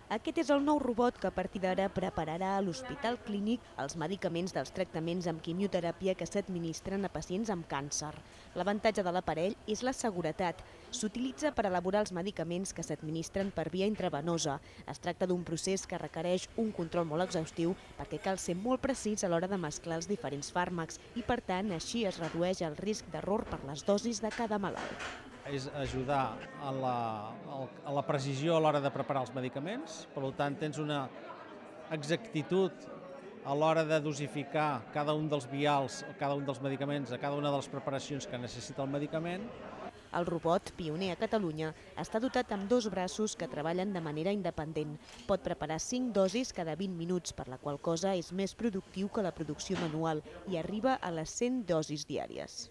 Aquest és el nou robot que a partir d'ara prepararà a l'Hospital Clínic els medicaments dels tractaments amb quimioteràpia que s'administren a pacients amb càncer. L'avantatge de l'aparell és la seguretat. S'utilitza per elaborar els medicaments que s'administren per via intravenosa. Es tracta d'un procés que requereix un control molt exhaustiu perquè cal ser molt precís a l'hora de mesclar els diferents fàrmacs i, per tant, així es redueix el risc d'error per les dosis de cada malalt. És ajudar a la precisió a l'hora de preparar els medicaments, per tant tens una exactitud a l'hora de dosificar cada un dels vials, cada un dels medicaments, a cada una de les preparacions que necessita el medicament. El robot, pioner a Catalunya, està dotat amb 2 braços que treballen de manera independent. Pot preparar 5 dosis cada 20 minuts, per la qual cosa és més productiu que la producció manual i arriba a les 100 dosis diàries.